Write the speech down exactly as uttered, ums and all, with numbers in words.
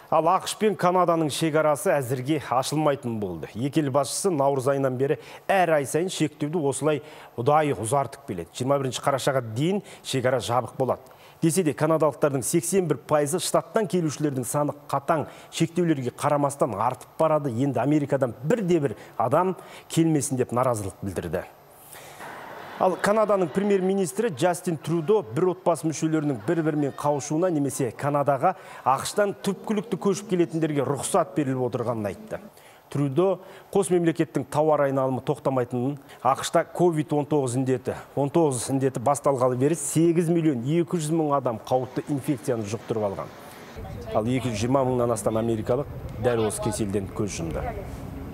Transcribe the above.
Ал ақш пен Канаданың шекарасы әзірге ашылмайтын болды. Екі ел басшысы наурыз айынан бері әр ай сайын шектеуді осылай ұдайы ұзартып келеді. жиырма бірінші қарашаға дейін шекара жабық болады. Десе де канадалықтардың сексен бір пайызы штаттан келушілердің саны қатаң шектеулерге қарамастан артып барады. Енді Америкадан бірде-бір адам келмесін деп наразылық білдірді. Ал Канаданың премьер-министрі Джастин Трюдо бір отбасы мүшелерінің бір-бірімен қауышуына немесе Канадаға ақштан түпкілікті көшіп келетіндерге рұқсат беріліп отырғанын айтты. Трюдо қос мемлекеттің тауар айналымы тоқтамайтынын, ақшта ковид он тоғыз індеті, он тоғыз індеті басталғалы бері сегіз миллион екі жүз мың адам қауіпті инфекцияны жұқтырып алған. Ал екі жүз жиырма мыңнан астам америкалық дәл осы кеселден көз жұмды.